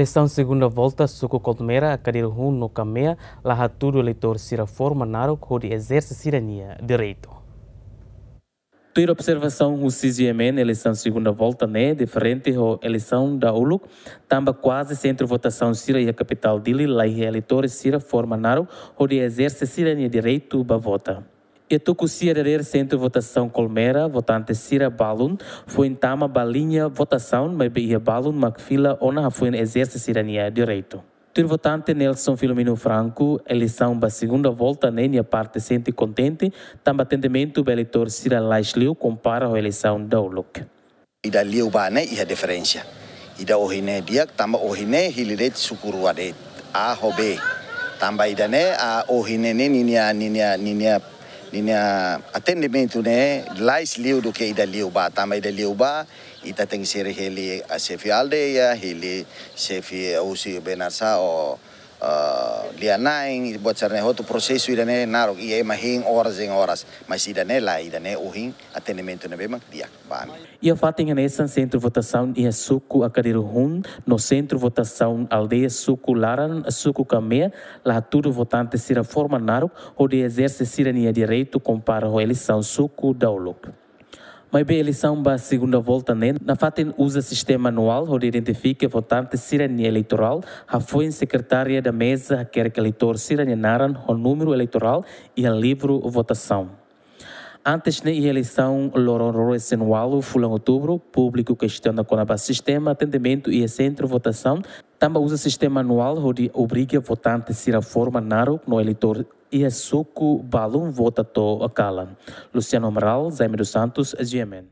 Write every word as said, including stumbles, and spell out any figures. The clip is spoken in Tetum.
Eleisaun segunda volta suku Colmera, Akadiru-hun no Kamea la hatudu eleitór sira forma naruk hodi ezerse sira-nia direitu. Tuir observasaun husi G M N, eleisaun segunda volta ne'e diferente ho eleisaun dahuluk, tanba kuaze sentru votasaun sira iha kapitál Dili la iha eleitór sira forma naruk hodi ezerse sira-nia direitu ba vota. Iha tuku sia dadeer sentru votasaun Colmera, votante sira balun foin tama ba liña votasaun, maibé iha balun mak fila ona hafoin ezerse sira-nia direitu. Tuir votante Nelson Filomeno Franco, eleisaun ba segunda volta ne'e nia parte sente kontente, tanba atendimentu ba eleitór sira lais liu kompara ho eleisaun dahuluk. Ida liubá ne'e iha diferensa. Ida ohin ne'e di'ak, tanba ohin ne'e hili de'it suku rua de'it, A ho B. Tanba ida-ne'e, a, ohin ne'e ninia, ninia, ninia, ninia atendimentu ne'e lais liu duké ida liubá. Tanba ida liubá, ita tenke ser hili, a, xefe aldeia, hili xefe husi benar sa o, a, lia-na'in, buat sira-ne'e hotu prosesu ida-ne'e naruk, i ema hein oras em oras. Mas ida-ne'e lae, ida-ne'e ohin atendimentu ne'ebé mak di'ak ba ami. Iha fatin hanesan, sentru votasaun iha suku Akadiru-hun no sentru votasaun aldeia suku Laran, suku Kamea, la hatudu votante sira forma naruk hodi ezerse sira-nia direitu kompara ho eleisaun suku dahuluk. Maibé eleisaun ba segunda volta ne'e nafatin uza sistema manuál hodi identifika votante sira-nia eleitorál, hafoin sekretária da meza hakerek eleitór sira-nia naran ho númeru eleitorál iha livru votasaun. Antes ne'e, iha eleisaun loron ruanulu-resin-ualu fulan Outubru, públiku kestiona kona-ba sistema atendimentu iha sentru votasaun, tanba uza sistema manuál hodi obriga votante sira forma naruk no eleitór iha suku balun vota to'o kalan. Luciano Amaral, Jaime dos Santos, G M N.